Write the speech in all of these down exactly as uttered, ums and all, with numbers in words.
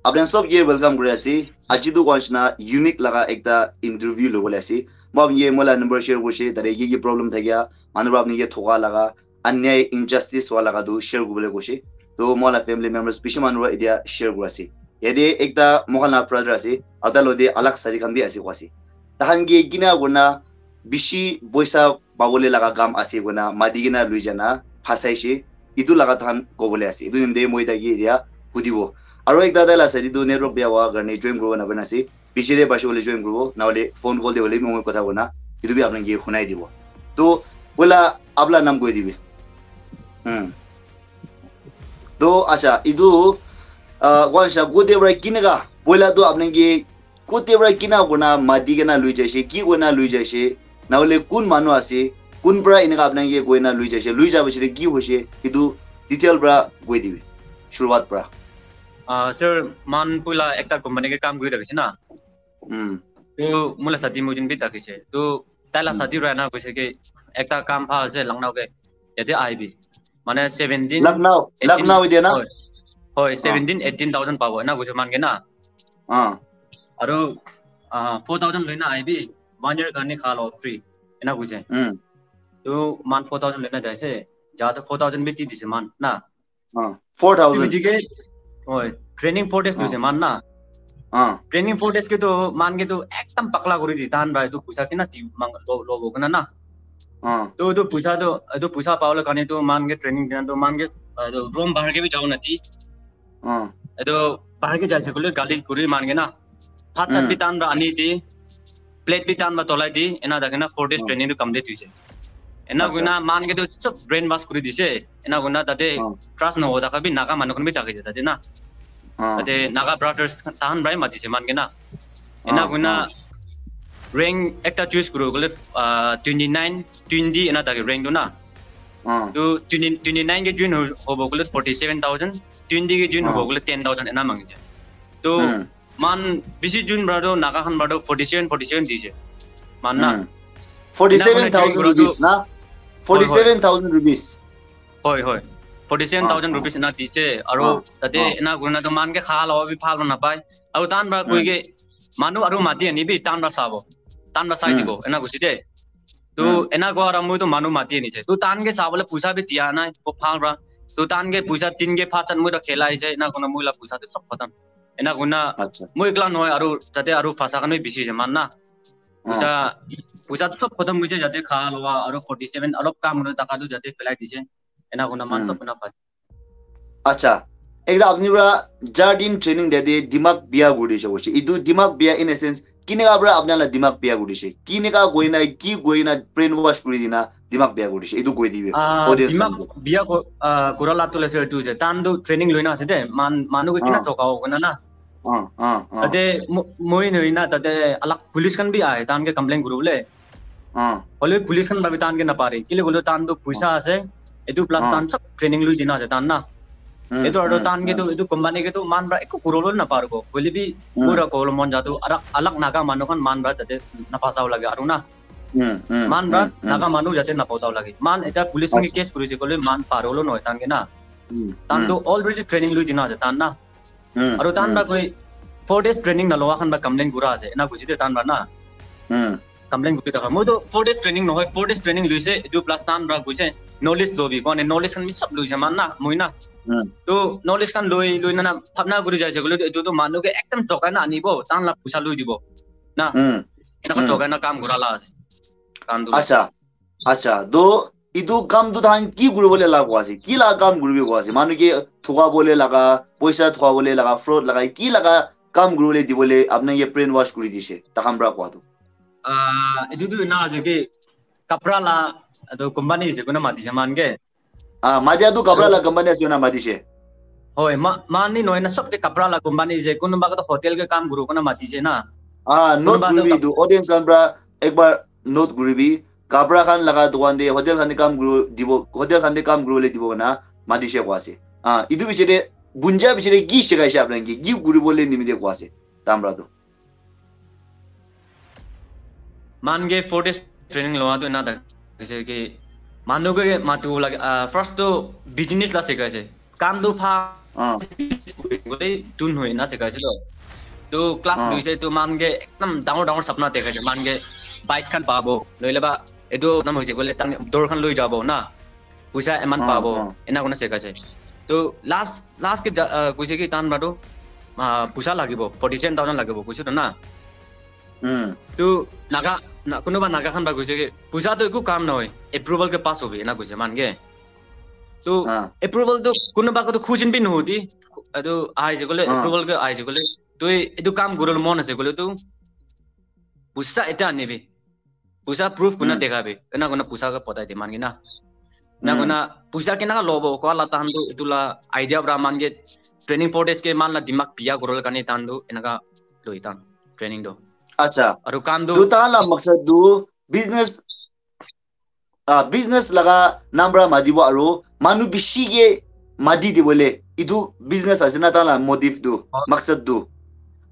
Apni sob ke welcome kuri ase. Aji tu koi nishina unique laga ekta interview lobole ase. Moi apni ke moi la number share kurise, tate ki ki problem thakia, manu para apni ke thoka laga, anyai injustice hua laga tu share kuribole koise. To moi la family members bishi manu para etia share kuri ase. Yate ekta moi khan la brother ase, aru tai lode alak sari khan bi ase koi ase. Tahan ke kina kurina bishi poisa pabole laga kam ase koina mati kena lui jana phasaishe, etu laga tahan kobole ase. Etu nimite moi taike etia hudibo. Aro ekta tai la side tu network bia howa karne join kuribo napare ase. Piche te paishe koile join kuribo, nahole phone call te hoile bi moi kotha koina etu bi apnai ke hunai dibo. To, poila apna naam koi dibi. Hmm. To, acha, etu, ah, koi sa, kote para kineka, poila to apnai ke kote para kina kurina mati kena lui jaise, ki koina lui jaise, nahole kun manu ase, kun para eneka apnai ke koina lui jaise, lui ja piche te ki hoise, etu detail para koi dibi, shuruwat para. Ah, sir, man poila ekta company ke kam kuri thakise na. Hmm. To, moi la sati moi jun bi thakise. To, tai la Hmm. sati ra na koise ke, ekta kam bhal ase, Lucknow ke. Yate ahibi. Mane seventeen, Lucknow, eighteen, Lucknow ite na? Hoi. Hoi, Ah. seventeen, eighteen thousand pabo, ena koise man ke na. Ah. Aru, ah, four thousand loina ahibi, one year karne kha lo free, ena koise. Hmm. To, man four thousand loina jaise, ja to four thousand bi di dise man, na. Ah, four thousand. Etu ke, hoi, training four days Ah. loise man na. Ah. Training four days ke to man ke to ekdam pakla kuri di, tahan para etu puisa kina di mang lo, lo bo kana na. Ah. To etu puisa to, etu puisa pabole karne to man ke training dina to man ke, ah, etu room bahar ke bi jabo na di. Ah. Etu bahar ke jaise koile gali kuri man ke na. Bhat chat bi Hmm. tahan para ani di, plate bi tahan para tolai di, ena thakina four days Hmm. training to complete hoise. Ena Acha. koina man ke to sob brain wash kuri dise. Ena koina tate Hmm. trust nohoa thaka bi Naga manu khan bi thakise tate na. Hmm. Tate Naga brothers khan tahan para matise man ke na. Ena Hmm. koina Hmm. rank ekta choose kuri koile, ah, twenty nine, twenty ena thake rank to na. Hmm. To twenty, twenty nine ke join ho-, hobo koile forty seven thousand, twenty ke join Hmm. hobo koile ten thousand ena mangise. To Hmm. man bishi join para to Naga khan para to forty seven, forty seven dise. Man na. Hmm. Forty seven thousand rupees na? Hoi, hoi. Forty seven thousand rupees. Hoi, hoi. Forty seven thousand Ah, ah. rupees ena dise. Aru Ah, tate ah. ena kurina to man ke kha lo bi bhal na pai. Aru tahan para Hmm. koi ke manu aru mati ani bi tahan para sabo. Tahan para sai Hmm. dibo. Ena koise de. To Hmm. ena koa para moi to manu mati ani je. To tahan ke sabole puisa bi dia nai. Ko bhal para. To tahan ke puisa tin ke bhat chat moi to khelai je. Ena koina moi la puisa to sob khatam. Ena koina Acha. moi ekla nohoi, aru tate aru phasa khan bi bishi ase man na. Ah. Puisa, puisa to sob khatam hoise, jate kha loa aru forty seven alop kam hoi thaka to jate pelai dise. Ena koina man Hmm. sob koina phasa. Acha. Ekta apni para jar din training de de dimag biya kuri dise koise. Etu dimag biya in a sense, kineka para apna la dimag biya kuri dise? Kineka koina, ki koina brainwash kuri dina dimag biya kuri dise? Etu koi dibi. Ah, audience dimag khan ke. Biya ko-, ah, kura la to le sir tu je. Tahan to training loina ase de. Man, manu ke kina Ah. choka ho koina na. Ah, ah, ah. Tate mo-, moi nohoi na, tate alak police khan bi ahe, tahan ke complain kuribole. Ah. Hoile police khan para bi tahan ke napare. Kile koile tahan to puisa Ah. ase, etu plus Ah. tahan sob training lui dina ase tahan na. Hmm, Etu aru hmm, tahan ke to, hmm. etu company ke to man para eku kuribole naparibo. Hoile bi Hmm. moi ra kobole mon ja to, arak, alak Naga manu khan man para tate naphasabo lage aru na. Hmm, hmm, Man para hmm, hmm. Naga manu jate napotabo lage. Man eta police khan ke Acha. case kurise koile man paribole nohoi tahan ke na. Hmm, Tahan hmm. to already training lui dina ase tahan na. Hmm, Aru tahan hmm. Para koi four days training naloa khan para complain kura ase. Ena buji de tahan para na. Hmm. Complain kuri thaka. Moi to four days training nohoi, four days training luise, etu plus tahan para buji knowledge lobi. Kone knowledge khan bi sob luise man na, moi na. Hmm. To knowledge khan loi, loi na na, bhabna kuri jaise koile to etu to manu ke ekdam thokai na anibo, tahan la puisa loi dibo. Na. Hmm. Enaka Hmm. thokai na kam kura la ase. Tahan to. Acha. Acha, to etu kam tu tahan ki kuribole laga koi ase? Ki laga kam kuribi koi ase? Manu ke thokabole laga, poisa thokabole laga, fraud laga, ki laga kam kuribole dibole apna ke brainwash kuri dise? Tahan para koa tu. Ah, etu tu ena ase ki kapra la, etu company ase, kuna mati ase man ke. Ah, mati atu kapra To- la company ase, kuna mati ase. Hoi, ma-, mani nohoi na, sob ke kapra la company ase, kunuba ke to hotel ke kam kuru, kuna mati ase na. Ah, note Kunuba to kuribi kap- tu, audience khan para ekbar note kuribi. Kapra khan laga dukan te, hotel khan te kam kuru dibo, hotel khan te kam kuribole dibo na, mati ase koi ase. Ah, etu piche te, bunja piche te ki shikai ase apna ke, ki kuribole nimite koi ase, tahan para tu. Man ke four days training loa tu ena thakise ki manu ke matu lage, ah, first tu business la sikai ase. Kam tu pha- Ah. Gole tun hoi na sikaise to. To class Ah. dui se to man ke ekdam dangor dangor sapna dekha je, man ke bike khan pabo, loile ba etu nam hoise gole tan dor khan loi jabo na, puisa eman Ah, pabo, ah. ena kona sikaise. To last last ke ja- ah, koise ki tan ba to ah, puisa lagibo, forty seven thousand lagibo koise to na. Hmm. To naga na, kunuba naga khan ba koise ki puisa to eku kam nohoi, approval ke pass hobi ena koise man ke. To Ah. approval to kunuba ko to khujin bi nohoti. Etu ahise gole Ah. approval ke ahise gole, to etu kam guribole mon ase gole to puisa eta anibi, puisa proof kuna Hmm. dekhabi, ena kona puisa ke potai de man ke na. Ena Hmm. kona puisa kena lobo ko la tan to etu la idea pra man ke training four days ke man la dimag biya guribole karne tan to enaka loi tan training to. Acha. Aru kam to Tu ta la maksad tu business ah business laga nam pra matibo aru manu bishi ke mati dibole itu business ase na ta la motive tu Oh. maksad tu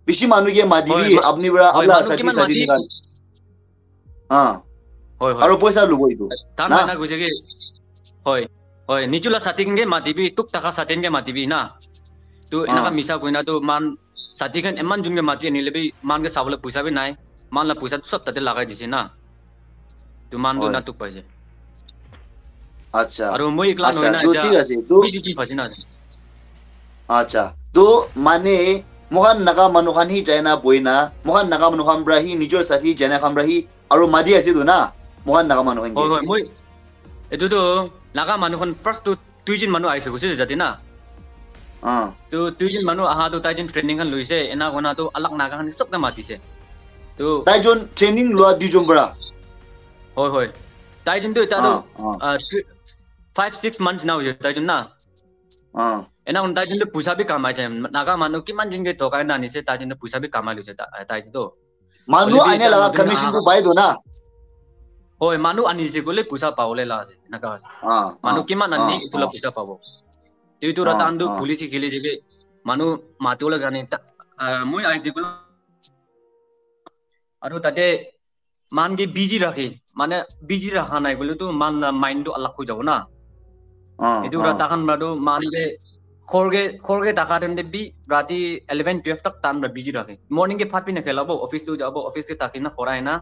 bishi manu ke mati Hoi, bi ma- apni pra hoi, apna manu sati kiman sati mati? Nikan ah Hoi, hoi. Aru poisa lubo itu Tan na mana koise ki, hoi, hoi, nichula sati khan ke matibi, tuk taka sati khan ke matibi na. Tu enaka Ah. misa koina tu man sati khan eman jun ke mati anile bi man ke sabole puisa bi nai. Man la puisa tu sab tate lagai dise na. Tu man tu Hoi. Na tuk paise. Acha. Aru moi ekla Acha, nohoi na tu etia thik ase. Tu moi jiki phasi na. Acha. Tu mane mohan naga manu khan hi jaina boina mohan naga manu khan pra hi nijor sati jaina khan pra hi aru mati ase tu na mohan naga manu khan Hoi, ke. hoi, moi etu tu naga manu khan first tu tuijin manu aise koise jati na. Ah. Tu tuijin manu aha tu taijin training khan loise, ena kona tu alag naga khan sob ke matise. Tu Taijun training lua duijun pra. Hoi, hoi. Taijun tu eta tu Ah, ah. ah, three- five six months na hoise taijun na. Ah. Ena kona taijun tu puisa bi kamai se. Naga manu kiman jun ke thokai na anise taijun tu puisa bi kamai loise ta- taijun tu. Manu Hoile bi ane eta laga notun commission aha- tu pai do na. Hoi, manu anise koile puisa pabole la ase. Enaka ase. Ah. Manu Ah, kiman ani ah, etu la ah. Puisa pabo. Tu etu ra Ah, tan tu ah. Police khele je ke manu matu la gane ta ah, moi aise koile aru tate man ke busy rakhi mane busy rakha nai koile tu man la mind tu alag hoi jabo na. Ah, Etu ra ah. Tahan mra tu man ke khor ke khor ke taka time te bi rati eleven twelve tak tan mra busy rakhe. Morning ke phat bi na khelabo, office tu jabo, office ke taki na khorai na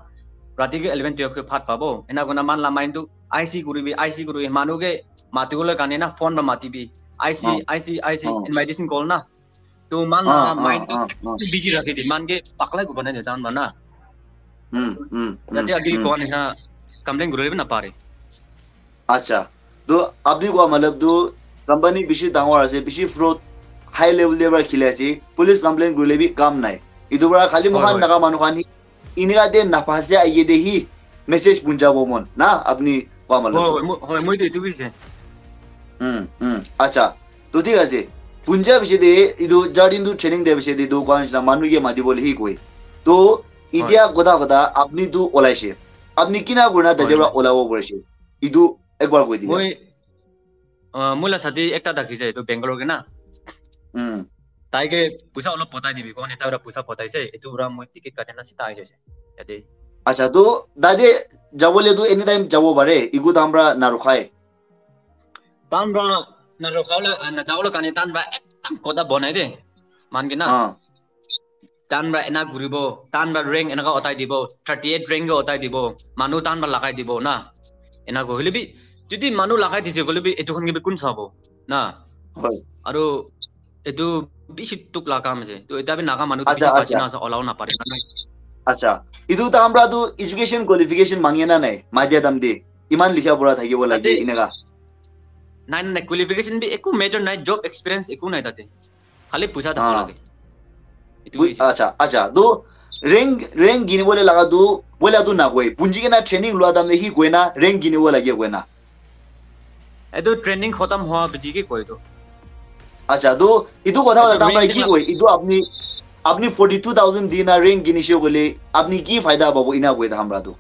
rati ke eleven twelve ke phat pabo. Ena kona man la mind tu I C kuribi, I C kuribi, manu ke mati bole kane na phone ba mati bi. I C, Ah. I C, I C, Ah. invitation call na. Tu man Ah, la ah, mind tu ah, ah. busy rakhe di, man ke pakla ko banai de tan ba na. Hmm, hmm, hmm, Jati agili hmm. Ko ani na complain guribi na pare. Acha. To apni koa matlab tu company bishi dangor ase, bishi fraud high level te para khili ase. Police complaint kurile bi kam nai. Etu para khali Hoi, moikhan hoi. Naga manu khan hi inika te naphase aye te hi message punjabo mon na apni koa matlab Hoi, tu. hoi, moi- hoi, moi tu etu bi ase. Hmm, hmm. Acha. To thik ase. Punja bishe te etu jar din tu training de bishe te tu koa nishina manu ke mati bole hi koi. To itia kotha kotha apni tu olaise. Apni kina kurina Hoi, tate para hoi. Olabo parise. Etu ekbar koi dibi. Moi uh, moi la sati ekta thakise etu Bangalore ke na. Hmm. Tai ke puisa olop potai dibi ko ne tai para puisa potaise etu para moi ticket kati na sita ahi jaise. Yate. Acha, to tate jabole tu anytime jabo pare, eku tam para na rukhai. Tan para na rokha le na jabo le kane tan para ekdam kotha banai de. Man ke na. Ah, Tan para ena guribo, tan para rank enaka otai dibo, thirty eight rank ke otai dibo, manu tan para lagai dibo na. Ena ko hoile bi jodi manu lagai dise koile bi etu khan ke bi kun sabo na. hoi. Aru etu bishi tuk la kam ase. To eta bi Naga manu tu Acha, bishi acha. bachina ase, olao na pare. Acha, etu tam para tu education qualification mangi na nai, madia tam de. Iman likha pura thakibo lage Tate- inaka. Nai nai qualification bi eku matter nai, job experience eku nai tate. Khali puisa thaka Ah. lage. Etu Bui- bi ase. Acha, acha. To rank rank gini bole laga tu bola tu na koi. Punji ke na training lua tam de hi koi na rank gini bole lage koi na. Etu training khatam hoa biji ke koi to. Acha, to etu kotha Etu kotha tam para rank ki ke koi? Etu apni apni forty two thousand di na rank gini she kole apni ki faida pabo ina koi ta hamra tu.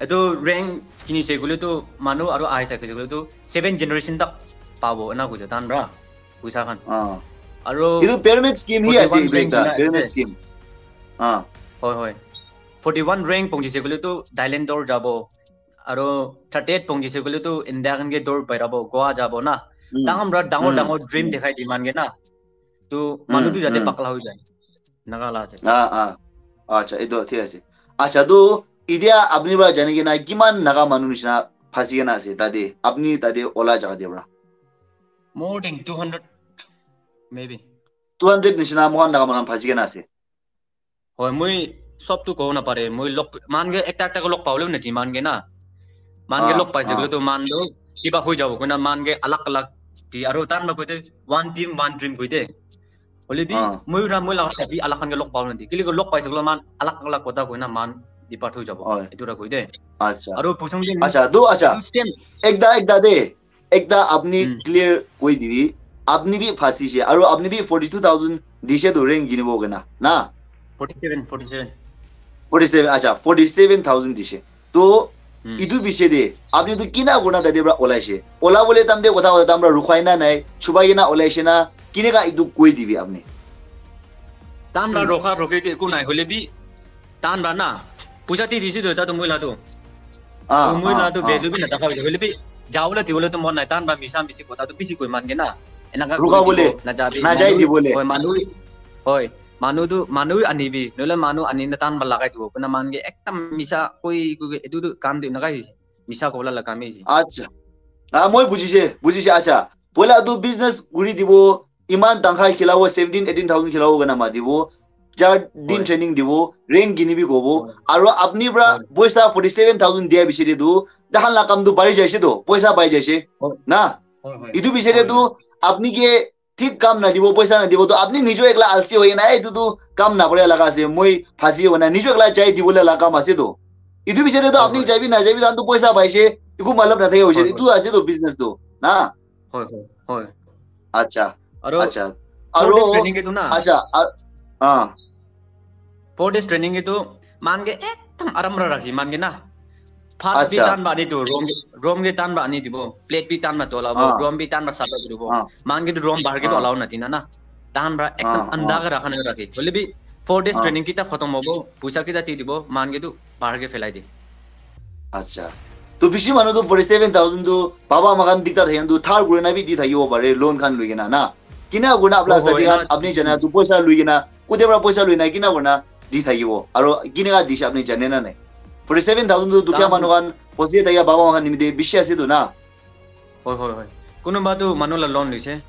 Etu rank kini se gule to manu aru ai sa kise gule to seven generation tak pabo ena koi tan ra puisa khan. Ah. Aru Etu pyramid scheme hi ase forty one etu rank ekta gina pyramid ase. Scheme. Ah. Hoi hoi. Forty one rank pongji se gule to Thailand dor jabo. Aru thirty eight pongji se gule to India khan ke dor pairabo, Goa jabo na. Hmm. Dangor pra dangor Hmm. dangor dream Hmm. dekhai di man ke na. Tu manu Hmm. tu jate Hmm. pakla hoi jai. Enaka la ase. Ah, ah. Acha, etu thik ase. Acha, tu itia apni pra jani kena kiman Naga manu nishina phasi kena ase tate, apni tate ola jaga te pra? More than two hundred maybe. Two hundred nishina mohan Naga manu phasi kena ase. Hoi, moi sob tu kobo napare. Moi log, man ke ekta ekta ke log pabole nati man ke na. Man ke Ah, log paise ah. Kole tu man tu kiba hoi jabo koina man ke alag alag di aru tan log koite one team one dream koite. Hole bi Ah. Moi ra moi laga sathi alag khan ke log pabole nati. Kile log paise kole man alag alag kotha koina man depart hoi jabo. Hoi. Etu ra koite. Acha. Aru puchong ke Acha, tu acha. Etu same. Ekta, ekta de. Ekta apni Hmm. clear koi dibi. Apni bi phasi she. Aru apni bi forty two thousand dishe tu rent kinibo kena. Na? Forty seven, forty seven. Forty seven, acha, forty seven thousand dishe. To, Hmm. Itu bishe de, apni tu kina kurna tate pra olai she. Ola bole tam de kotha kotha tam pra rukhai na nai. Chubai kena olai she na. Kine ka itu koi dibi apni. Tan ra rokha rokhi te eku nai hole bi. Tan ra na. Puja ti disi to eta to moi la to. Ah, To moi ah, la to ah. value bi na dakha hole bi. Jaola ti hole to mon nai tan ra misa misi kotha to bisi koi man ke na. Enaka Rukha koi bole. dibo, na jabi. Na jai Manu- di bole. Hoi, manu. Hoi. Manu tu manu anibi. Nohole manu ani na tan ba lagai dibo. Kuna man ke ekdam misa koi koi etu tu kam de nagai. Misa kola la kam isi. Acha. Ah, moi bujise, bujise, acha. Poila tu business guri dibo, iman tangkhai khilabo, seventeen, eighteen thousand khilabo kena matibo. Jar din Hoi. Training dibo, rent kinibi kobo. Hoi. Aru apni pra Hoi. Poisa forty seven thousand dia bishe de tu, dahan la kam tu bari jaise to, poisa pai jaise. Hoi. Na? Hoi, hoi. Itu bishe de Hoi, tu, hoi. Apni ke thik kam nadibo, poisa nadibo, to apni nijo ekla alsi hoi na, "Etu tu kam nabole laga ase, moi phasi hoi na," nijo ekla jai dibole laga kam ase to. Itu bishe de to Hoi, apni hoi. Jaibi najaibi, tan to poisa paise, eku matlab nathake hoise, Hoi, hoi. Itu ase to business to, na? Hoi, hoi, hoi. Acha, Aru acha. four days Aru, training ke tu na. Acha, a- ah, Four days training ke tu man ke ekdam aram ra rakhi man ke na. First bi Acha. Tan ba ani tu room, room ke tan ba ani dibo. Plate bi tan ba tola bo, Ah. Room bi tan ba sapa dibo. Ah. Man ke tu room bahar ke tu Ah. Allow nati na na. Tan ba ekdam Ah, anda ah. ke rakha na rakhi. Hole bi four days Ah. Training kita khatam hobo, puisa kita ti dibo, man ke tu bahar ke phelai di. Acha. To bishi manu to forty seven thousand to baba makan diktar thayan to thar kuri na bi di thakibo pare, loan khan lui kena na. Kina kurna apna Oh, oh, sadi khan ena- apni jana tu poisa lui kena, kote pra poisa lui na kina kurna di thakibo. Aru kina ka dishe apni jane na nai. Forty seven thousand tu dukhiya Tan- manu khan, posi thaya baba makan nimite bishi ase to na. Hoi, hoi, hoi. Kunuba tu manu la loan loise.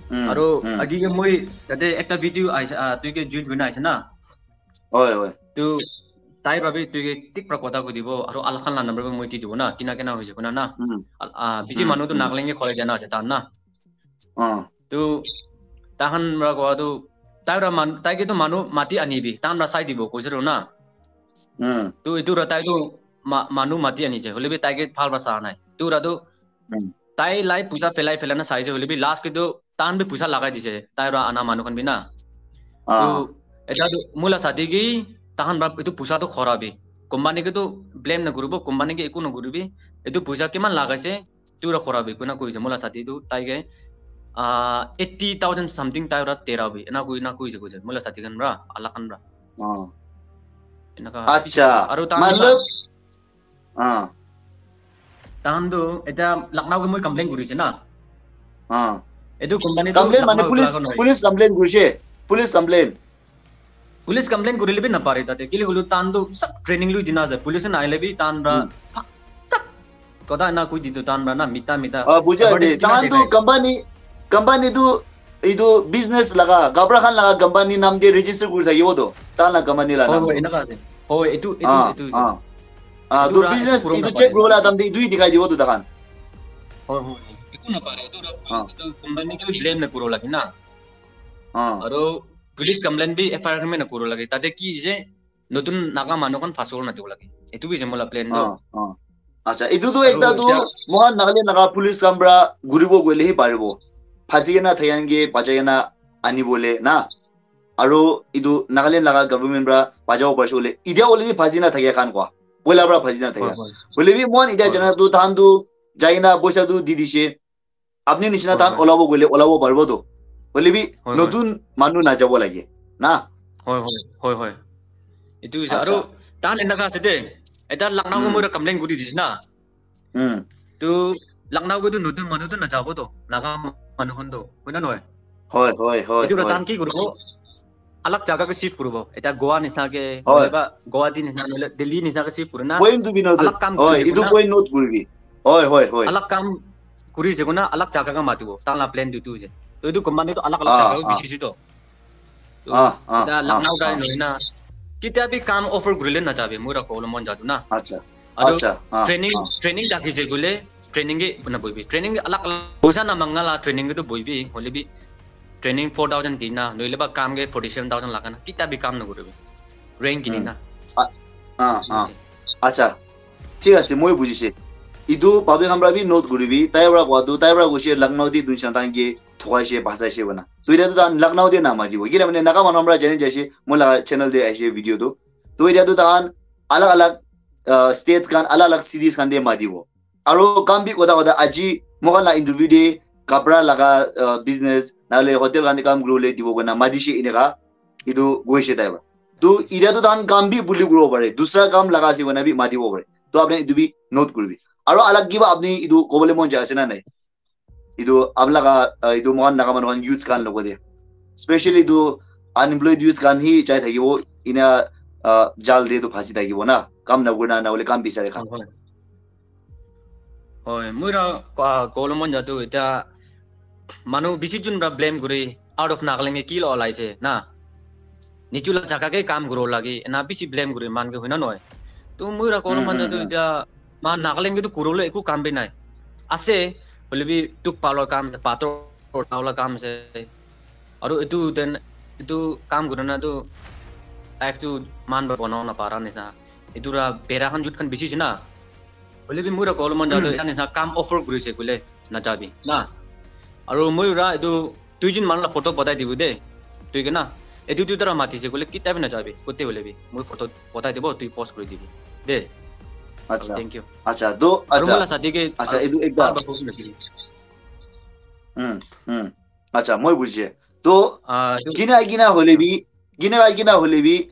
Hmm, Aru hmm. Agi ke moi tate ekta video aise, ah, tui ke join kuri na aise na. Hoi, hoi. Tu tai pra bi tui ke thik pra kotha koi dibo, aru alak khan la number bi moi di dibo na, kina kina hoise koina na. Hmm. Al-, ah, bishi Hmm, manu tu hmm. Nagaland ke khole jana ase tan na. Ah. Tu tahan pra koa tu, tai pra man, tai ke tu manu mati ani bi, tan pra sai dibo, koise ro na. Hmm. Tu itu pra tai tu ma-, manu mati ani je, hole bi tai ke phal pra sa nai. Tu ra tu, Hmm. tai lai puisa phelai phelai na sai je, hole bi last ke tu, tan bi puisa lagai dise, tai pra ana manu khan bi na. Ah. Tu, eta tu, moi la sadi ke, tahan pra, itu puisa tu khora bi. Company ke tu blame na kuribo, company ke eku na kuribi. Itu puisa kiman lagai se, tu ra khora bi, kuna koi se, moi la sadi tu, tai ke, ah, eighty thousand something tai ra tera bi, ena koi, na koi se, koi se, moi la sadi khan pra, alak khan pra. Ah. Enaka. Acha. Aru tan Matlab, ah. Tahan tu, eta Lucknow ke moi complain kurise na. Ah. Etu company tu Complain mane Lucknow police, ekla ka nohoi. Police complain kurise. Police complain. Police complain kurile bi napare tate. Kile holu tan tu sab training lui dina ase. Police na ahile bi tan ra Hmm. thak, thak. Kotha na koi ditu tan ra na mita mita. Ah, buji ase. Advertise kina Tahan tu dekhai. Company, company tu etu business laga, gabra khan laga company nam de register kuri thakibo to. Tahan la company la Hoi, nam hoi, de. Enaka ase. Hoi, etu, etu, Ah, etu. ah. Ah, Etu to ra, business etu kuro etu napare. Check kuri bola time de etu hi dikhai dibo to tahan. Hoi, hoi. Etu napare. Etu ra, Ah. etu company ke bi blame na kuro lagi na. Ah. Aru police complain bi F I R khan bi na kuro lagi. Tate ki je notun Naga manu khan phasol na dibo lagi. Etu bi je mola plan do. Ah, ah. Acha, etu tu Aru ekta tu etya mohan Nagaland laga police khan pra guribo goile hi paribo. Phasi kena thakiyan ke bachai kena anibole na. Aru etu Nagaland laga government pra bachabo parise bole. Etia already phasi na thakiya khan kwa. Poila pra phasi na Hoi, thakiya. hoi. Hoile bi mohan etia Hoi. jana tu tahan tu jai na poisa tu di dise. Apni nishina Hoi, tahan hoi. Olabo goile olabo paribo to. Hoile bi Hoi, hoi. Notun manu najabo lage. Na? Hoi, hoi, hoi, hoi. Etu hoise. Acha. Aru tahan enaka ase de. Eta Lucknow Hmm. moi complain kuri dise na. Hmm. Tu Lucknow ke tu notun manu tu najabo to, Naga manu khan to, hoi na nohoi? Hoi, hoi, hoi, Etu para hoi. tahan ki kuribo? Alag jaga ke shift kuribo. Eta Goa nisna ke, Hoi. Ba Guwahati nisna, nohole Delhi nisna ke shift kurina. Point to be noted. Alag kam Hoi, kuri etu na. Point note kuribi. Hoi, hoi, hoi. Alag kam kuri se kuna, alag jaga ke matibo. Tahan la plan tu tu se. To etu company to alag alag Ah, jaga ke ah. bishi si to. To Ah, ah, eta ah, Lucknow guy ah. Nohoi na. Kitia bhi kam offer kurile najabo, mura kolo mon jadu na. Acha, Aru acha, ah, training, ah. Training thakise koile, training ke na boibi. Training alag alag, poisa na manga la training ke to boibi, hoile bi training four thousand di na, nohole ba kam ke forty seven thousand laga na, kitia bhi kam na kuribi. Rank kini Hmm. na. Ah, ah. Acha, thik ase, moi bujise. Etu public khan para bi note kuribi, tai para kowa tu, tai para koise Lucknow di dunsan tan ke thokaise, basaise bana. To etia tu tahan Lucknow de na matibo. Kile mane Naga manu para jani jaise, moi la channel de aise video tu. To etia tu tahan alag alag, uh, states khan, alag alag cities khan de matibo. Aru kam bi kotha kotha aji, moi khan la interview de kapra laga, uh, business, nahole hotel khan de kam kuribole dibo koina matishe eneka, etu koise tai para. To etia tu tahan kam bi buli kuribo pare, dusra kam laga ase koina bi matibo pare. To apni etu bi note kuribi. Aru alag kiba apni etu kobole mon jai ase na nai? Etu apni laga, uh, etu moi khan Naga manu khan youths khan logo de. Specially etu unemployed youths khan hi jai thakibo, ina, uh, jal de tu phasi thakibo na. Kam na kurina, nahole kam bisare khan. Hoi, hoi. Hoi, moi ra, ah, kolo mon jadu eta manu bishi jun ra blame kuri, out of Nagaland ke ki la olaise na. Nichu la jaga ke kam kuro lagi, ena bishi blame kuri man ke hoi na nohoi. To moi ra kolo Hmm, mon hmm, jadu hmm. Eta ma Nagaland ke to kurole eku kam bi nai. Ase, hoile bi tuk palo kam, pator uthaola kam ase. Aru etu then etu kam kurina tu life tu man ba banao na para nisna. Etu ra bera khan youth khan bishi ase na. Hoile bi moi ra kolo mon jadu, eta nisna kam offer kurise koile najabi na. Aru moi ra etu duijon manu la photo patai dibo de. Tui ke na. Etu duita ra matise koile kitia bi najabi. Kote hoile bi. Moi photo patai dibo, tui post kuri dibi. De. Aru Acha, thank you. acha, to, Aru moi la acha, sadi ke, acha, aru etu ekta. aru ba kosina kiri. Hmm, hmm. Acha, moi bujise. To, Ah, etu kina kina hoile bi, kina kina hoile bi,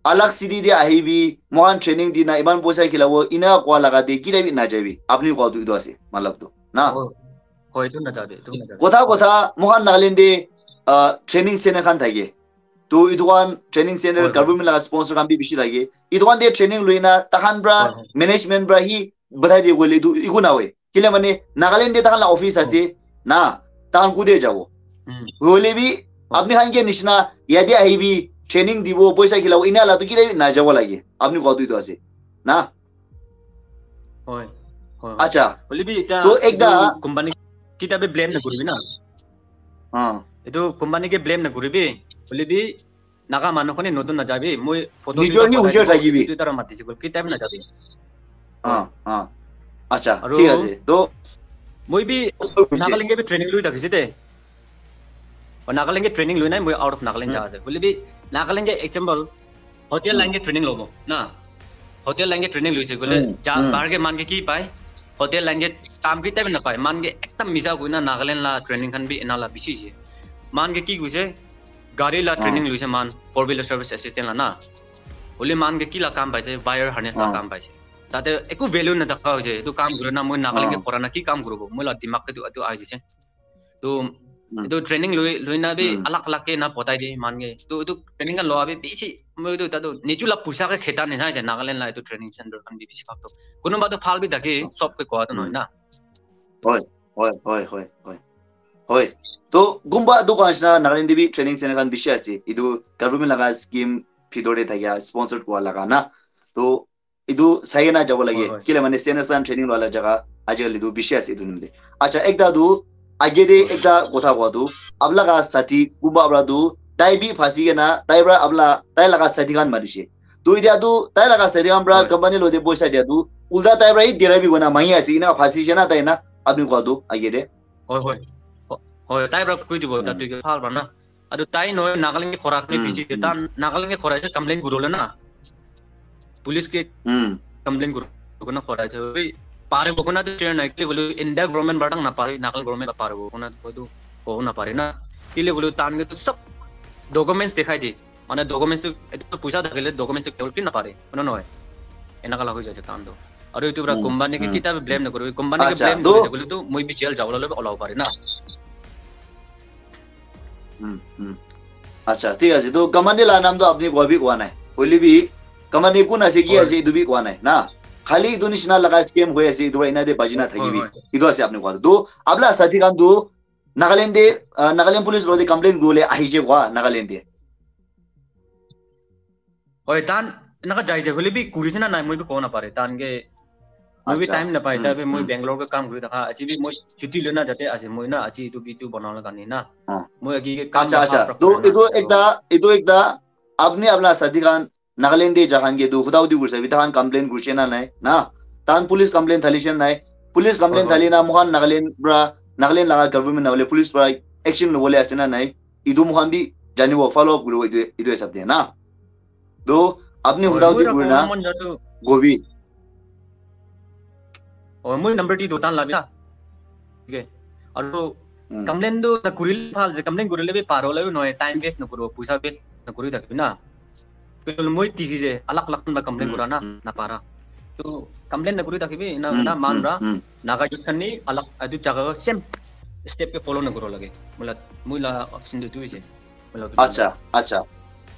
alag city de ahibi, moi khan training dina, iman poisa khilabo, ina kowa laga de, kina bi najabi. Apni kowa tu etu ase, matlab tu. Na? Hoi, hoi, etu najabi, etu najabi. Kotha kotha, moi khan Nagaland de, uh, training center khan thake. To etu khan training center, Hoi, hoi. Government laga sponsor khan bi bishi thake. Etu khan de training loina, takhan pra, Hoi, hoi. Management pra hi batai de koile etu eku na hoi. Kile mane Nagaland de takhan la office ase, na, takhan kude jabo. Hmm. Hoile bi, Hoi. Apni khan ke nisna, yate ahibi, training dibo, poisa khilabo, ina la tu kile najabo lage. Apni kowa tu etu ase. Na? Hoi, hoi, hoi. Acha. Hoile bi eta, To ekta etu company kitia bi blame na kuribi na. Ah. Etu company ke blame na kuribi. Hoile bi Naga manu khone notun najabi. Moi photo Nijor hi hujor thakibi. Etu tara matise koile kitia bi najabi. Ah, ah. Acha, Aru thik ase. To, Moi bi to bujise. Nagaland ke bi training loi thakise de. Aru Nagaland ke training loi nai, moi out of Nagaland Hmm. ja ase. Hoile bi Nagaland ke example, hotel Hmm. Line ke training lobo na. Hotel Line ke training loise koile, Hmm, ja, hmm. Bahar ke man ke ki pai? Hotel Line ke kam kitia bi napai. Man ke ekdam misa koina Nagaland la training khan bi ena la bishi ase. Man ke ki koise? Gari la Hmm. Training loise man, four wheeler service assistant la na. Hoile man ke ki la kam paise? Wire harness la Hmm. Kam paise. Tate eku value na thaka hoise. Etu kam kuri na moi Nagaland ke Hmm. Kora na ki kam kuribo? Moi la dimag ke tu, tu ahi jise. To, Hmm. etu training loi, loi na bi Hmm. alag alag ke na patai de man ke. To, etu training kan loa bi bishi, moi etu ta tu, nichu la puisa ke kheta nisna ase Nagaland la etu training center khan bi bishi bhag to. Kunuba to phal bi thake, Acha. Sob ke koa to Hmm. nohoi na. Hoi, hoi, hoi, hoi, hoi. Hoi. To, kunba tu koa nisna Nagaland de bi training center khan bishi ase. Etu government laga scheme bhitor de thakia, sponsored koa laga na. To, etu sai kena jabo lage. Hoi, hoi. Kile mane seniors khan training loa la jaga ajikali tu bishi ase etu nimite. Acha, ekta tu, age de ekta kotha koa tu, apni laga sathi kunba para tu, tai bi phasi kena, tai para apni la, tai laga sathi khan marise. To etia tu, tai laga sathi khan para Hoi. Company lo de poisa dia tu, ulta tai para hi dera bi kona mangi ase, ina phasi jana tai na, apni koa tu, age de. Hoi, hoi. Hoi, tai para koi dibo, ta Hmm. tu ke phal ba na. Aru tai nohoi, Nagaland ke khora khan Hmm, bisi de. hmm. Tan Nagaland ke khora je complain kurole na. Police ke Hmm. complain kuru, kona khora je. Bhai, pare bo kona to share nai, kile gulu India government batang na pare, Nagaland government pare bo kona to ko na pare na. Kile gulu tan ke to sab documents dikhai di. Mane documents to, etu to puisa thakile documents to kebol ki na pare. Kona nohoi. Enaka la hoi jaise kam to. Aru etu para Hmm, company ke hmm. Kita bi blame nakuribi, company ke Acha, blame to- kuri thakile tu moi bi jail jabo le olabo pare na. Hmm, hmm. Acha, thik ase. To company la naam to apni koa bi koa nai. Hoile bi company kun ase ki Hoi. Ase etu bi koa nai na. Khali etu nishina laga scam hoi ase etu para ina de baji na Hoi, thakibi. hoi. Etu ase apni koa. To apna sathi khan to Nagaland de uh, Nagaland police lo de complain gule ahi je koa Nagaland de. Hoi, tan enaka jai je hoile bi kuri se na nai moi bi kobo napare. Tan ke moi bi Acha. Time napai. Hmm, Tabe moi hmm. Bangalore ke kam kuri thaka. Aji bi moi chuti lona jate ase moi na aji etu video banana la karne na. Ah. Moi agi ke kam Acha, la acha. half To kuri na. etu ekta, etu ekta apni apna sathi khan Nagaland de ja khan ke tu huda hudi kurise bi ta khan complain kurise na nai na. Tan police complain thali se nai. Police complain Hoi, hoi. Thali na mohan Nagaland pra Nagaland laga government na hole police pra action lobole ase na nai. Etu mohan bi janibo follow up kuribo etu etu hisab de na. To apni Hoi, huda moi hudi ra kuri kobo na mon jatu. Gobi. Oh, moi number ti dotan labi na. Okay. Aru Hmm. Complain tu na kuril phal je complain kurile bi paro labi noy time waste na kuro puisa waste na kuri thakbi na. Kilo moi tiki je alak alak ba complain Hmm, kura na hmm. Na para. To complain na kuri thakbi na Hmm, na man hmm, ra hmm. Naga youth khan ni alak atu jaga same step ke follow na kuro lage. Mula mula option tu tu je. Mula tu. Acha, acha.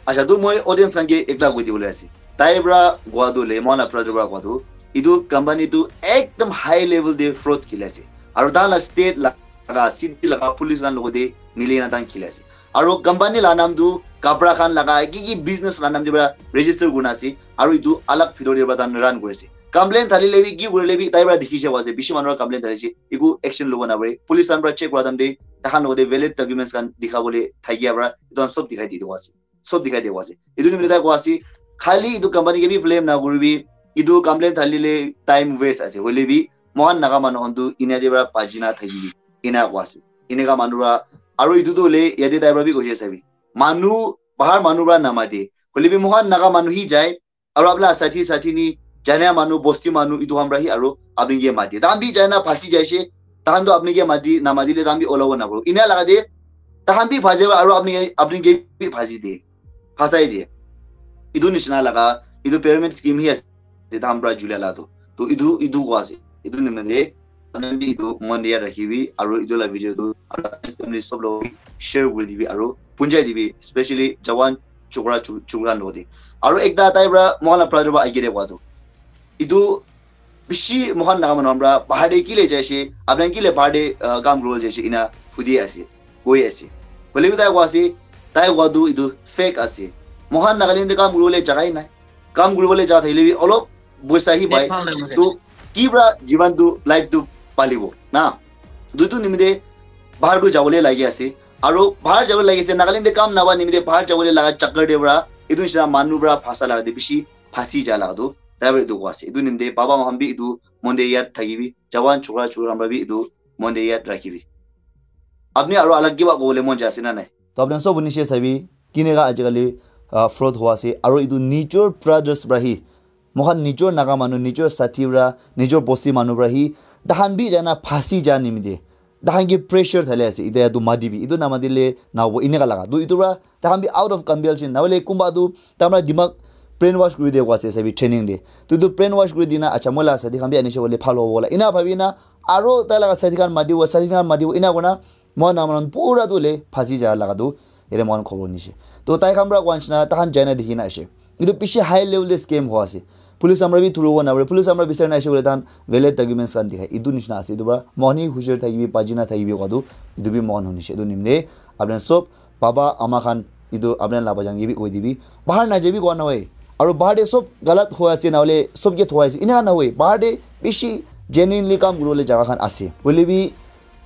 Acha, tu moi audience khan ke ekta koi dibole ase. Tai pra koa tu le, mohan la brother pra koa tu, etu company tu ekdam high level de fraud khili ase. Aru tahan la state laga, city laga police khan logote mili na tahan khili ase. Aru company la naam tu kapra khan laga, ki ki business la naam de pra register kurina ase. Aru etu alag bhitor de pra tahan run kuri ase. Complain thali le bi, ki kuri le bi, tai pra dikhi se ase. Bishi manu pra complain thali ase. Eku action lobo na pare. Police khan pra check kura time de, tahan logote valid documents khan dikha bole thakia pra, etu khan sob dikhai di dibo ase. Sob dikhai dibo ase. Etu nimite tai koa ase, khali etu company ke bi blame na kuribi, etu complain thali le time waste ase. Hoile bi, mohan Naga manu khan tu ina de pra baji na thakibi. Ina koa ase. Eneka manu pra, aru etu tu hoile yate tai pra bi koise sabi. Manu, bahar manu pra namate. Hoile bi mohan Naga manu hi jai, aru apna sathi sathi ni, jana manu, bosti manu, etu khan pra hi aru apni ke mate. Tahan bi jai na phasi jai se, tahan tu apni ke mati, namati le tahan bi olabo na paro. Ina laga de, tahan bi phasi aru apni, apni ke bi phasi de. Phasai de. Etu nishina laga, etu pyramid scheme hi ase, tahan pra julia la tu. To etu, etu koa ase. Etu nimite, tahan bi etu mon de yaad rakhibi, aru etu la video tu, aru family sob logot share kuri dibi, aru punjai dibi, especially jawan chokra, chu-, chokra logot de. Aru ekta tai pra, mohan la brother pra agere koa tu. Etu bishi mohan Naga manu khan pra bahar de kile jaise, apni kile bahar de, ah, kam kuribole jaise, ina hudi ase, koi ase. Hoile bi tai koa ase, tai koa tu etu fake ase. Mohan Nagaland de kam kuribole jaga hi nai. Kam kuribole jaga thakile bi olop boisa hi pai. To ki pra jiban tu, life tu palibo na. Etu nimite bahar tu jabole lagi ase. Aru bahar jabole lagi ase, Nagaland de kam napa nimite bahar jabole laga chakkar de pra, etu nishina manu pra phasa laga de bishi phasi ja laga tu, tai pra etu koa ase. Etu nimite baba mohan bi etu mon de yaad thakibi, jawan chokra chokri khan pra bi etu mon de yaad rakhibi. Apni aru alag kiba kobole mon jai ase na nai? To apni sob hunishe sabi, kineka ajikali, ah, fraud hua ase, aru etu nijor brothers pra hi, mohan nijor Naga manu, nijor sathi pra, nijor bosti manu pra hi, tahan bi jana phasi ja nimite. Tahan ke pressure thali ase, ite yatu mati bi, itu namati le nabo ineka laga. Tu itu pra, tahan bi out of compulsion, nahole kumba tu, tamra dimag brainwash kuri de kwa ase, sabi training de. Tu itu brainwash kuri dina, acha, moi la sathi khan bi anishe bole bhal hobo la. Ina bhabi na, aro tai laga sathi khan matibo, sathi khan matibo, ina kona, moi namran pura tu le phasi ja laga tu, ere moi khobor nishe. To tai khan pra kwan shina, tahan jaina dikhi na ashe. Itu bishi high level de scam hua ase. Police amra bi thuru na, police amra bisar na ashe bole tahan valid documents khan dikhai. Itu nishina ase. Itu pra mohani hushar thakibi, pajina thakibi kowa tu, itu bi mohan hunishe. Itu nimde, apni sob, baba, ama khan, itu apni la bajang ke bi koi dibi. Bahar na jabi kowa na hoi. Aru bahar de sob galat hua ase, na hole sob ke thua ase. Ina na hoi. Bahar de bishi genuinely kam kuribole jaga khan ase. Hoile bi,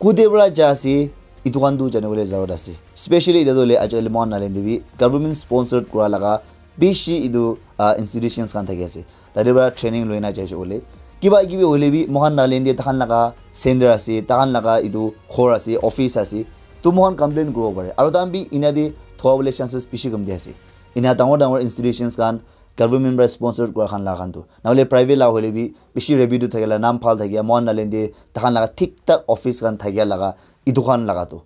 kude pra ja ase, itu khan tu janibole jarut ase. Specially, ita tu le, ajali mohan nalen de bi, government sponsored kura laga, bishi itu, ah, institutions khan thaki ase. Tate pra training loina jai ase bole. Kiba kibi hoile bi, mohan nalen de tahan laga center ase, tahan laga itu ghor ase, office ase. Tu mohan complain kuribo pare. Aru tahan bi ina de thua bole chances bishi kam de ase. Ina dangor dangor institutions khan, government pra sponsored kura khan laga khan tu. Nahole private la hoile bi, bishi revenue thakila, nam bhal thakia, mohan nalen de, tahan laga thik thak office khan thakia laga, itu khan laga tu.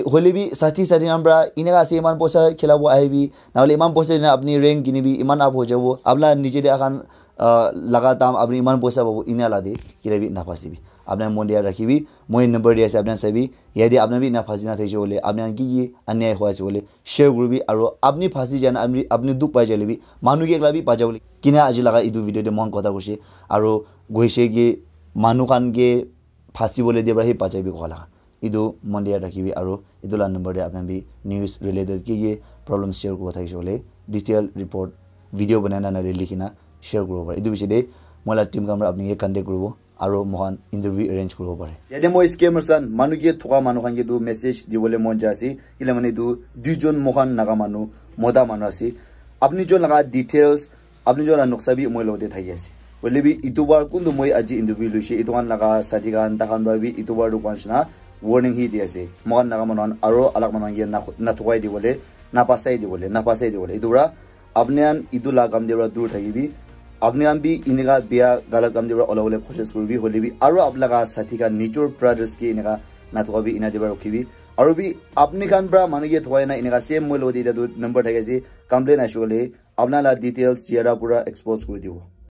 hoile bi sathi sathi khan pra eneka ase, iman poisa khilabo ahibi, nahole iman poisa dina apni rank kinibi, iman up ho jabo, apna niche de akhan, ah, laga dam apni iman poisa pabo, ina la de kila bi naphasibi. Apna mon de rakhibi, moi number de ase, apna sabi, yate apna bi ina phasi na thakise hoile, apna ki ki anyai hoi ase hoile, share kuribi, aro apni phasi jana, apni, apni dukh pai jale bi, manu ke ekla bi bachabo le. Kina aji laga etu video de mon kotha koise, aro goise ki manu khan ke phasi bole de pra hi bachai bi kola. Etu mon de rakhibi, aro etu la number de apna bi news related ki ki problem share kuribo thakise hoile, detail report video banai na nale likhina share kuribo pare. Etu bishi de moi la team khan pra apni ke contact kuribo, aro moikhan interview arrange kuribo pare. Yate moi scammers khan, manu ke thoka manu khan ke tu message dibole mon jai ase, kile mane tu duijon moikhan naga manu, mota manu ase. Apni jon laga details, apni jon la noksa bi moi logote thaki ase. Hoile bi etu bar kuntu moi aji interview loise, etu khan laga sathi khan, takhan pra bi etu bar tu kwan shina warning hi di ase. Moikhan naga manu khan aro alag manu khan ke na, na thokai dibole, na pasai dibole, na pasai dibole. Etu pra apni khan etu la kam de pra dur thakibi. Apni khan bi eneka bia galat kam de pra olabole koshish kuribi, hoile bi aro apni laga sathi khan, nijor brothers ke eneka na thokabi, ena de pra rukhibi. Aro bi apni khan pra manu ke thokai na eneka same moi logote eta tu number thaki ase, complain aise hoile apna la details jara pura expose kuri dibo.